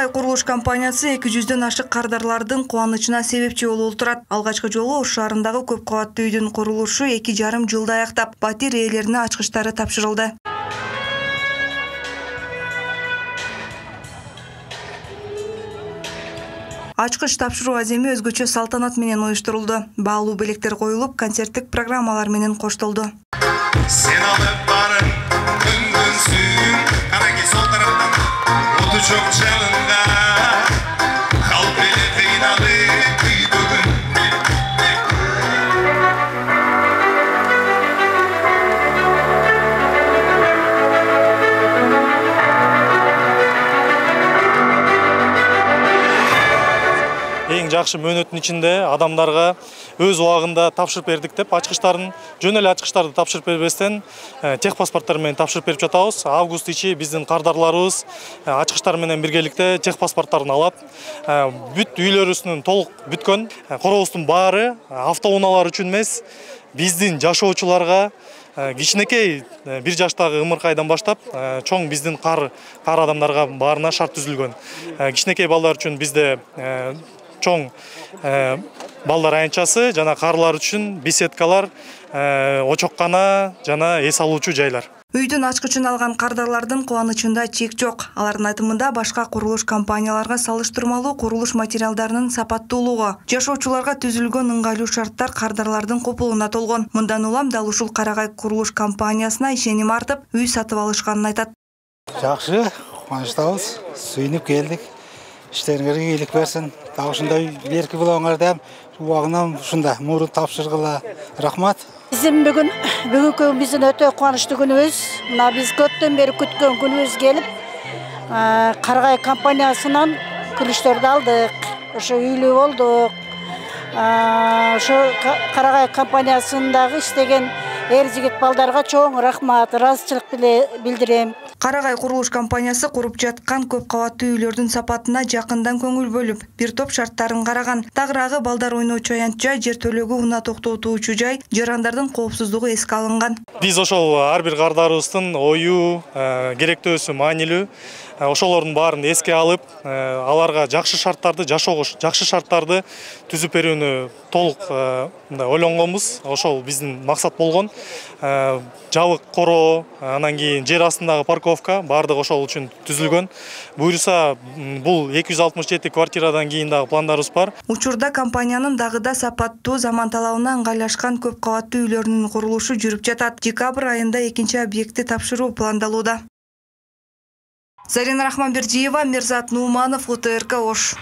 Карагай курулуш компаниясы 200дөн ашык кардарлардын кубанычына себепчи болуп турат. Алгачкы жолу Ош шаарындагы көп кабаттуу үйдүн курулушу 2,5 жылда аяктап, батир ээлерине ачкычтары тапшырылды. Ачкыч тапшыруу аземи өзгөчө салтанат менен уюштурулду. Баалуу белектер коюлуп, концерттик программалар менен коштолду. Sen alıp barın, gündüzsün, Karagi sol taraftan, otu çok çalınga, kalbeli kıynalı kıydığın. Эң жакшы мөөнөттүн ичинде адамдарга өз убагында тапшырып бердик деп, ачкычтарын жөн эле ачкычтарды тапшырып бербестен техпаспорттор менен тапшырып берип жатабыз. Август ичи биздин кардарларыбыз ачкычтар менен биргеликте техпаспорттарын алып, бүт үйлөрүбүздүн толук бүткөн. Коробуздун баары автоунаалар үчүн эмес, биздин жашоочуларга кичинекей 1 жаштагы ымыркайдан баштап чоң биздин кар адамдарга баарына шарт түзүлгөн. Кичинекей балдар үчүн бизде чоң балдар аянтчасы жана карлар үчүн беседкалар, очоккана жана эс алуучу жайлар. Үйдүн ачкычын алган кардарлардын кубанычында чек жок. Алардын айтымында башка курулуш компанияларга салыштырмалуу курулуш материалдарынын сапаттуулугу, жашоочуларга түзүлгөн ыңгайлуу шарттар кардарлардын копулуна толгон. Мындан улам дал ушул Карагай курулуш компаниясына ишеним артып, үй сатып алышканын айтат. Жакшы, кубанычтабыз, сүйүнүп келдик. İşlerinize iyilik versin. Daha şunda berki bulağınlar da ubağından şunda murun tapşırgıla rahmat. Bizim bugünkü bizim öte kuançlı günümüz. Biz kötten beri kütkön günümüz gelip Karagay kampanyasından kuluşlarda aldık. Şu üylü olduk. Şu Karagay kampanyasındaki istegen erjigit baldarga çoğun rahmat, razычылык bildirem. Карагай курулуш компаниясы куруп жаткан көп кабаттуу үйлөрдүн сапатына жакындан көңүл бөлүп, бир топ шарттарын караган. Тагыраагы балдар ойночу аянтча, жер төлөгү унаа токтотуучу жай, жарандардын коопсуздугу эске алынган. Биз ошол ар бир кардарыбыздын ою, керектөөсү, маанилүү, ошолордун баарын эске алып, аларга жакшы шарттарды, жашоого жакшы шарттарды түзүп берүүнү толук ойлонгонбуз. Ошол биздин максат болгон. Жабык короо, анан кийин жер астындагы парковка баардыгы ошол үчүн түзүлгөн. Буюрса, бул 267 квартирадан кийин дагы пландарыбыз бар. Учурда компаниянын дагыда сапаттуу, заман талабына ыңгайлашкан көп кабаттуу үйлөрүнүн курулушу жүрүп жатат. Декабрь айында экинчи объектти тапшыруу пландалууда. Зарина Рахманбердиева, Мирзат Нууманов, УТРК Ош.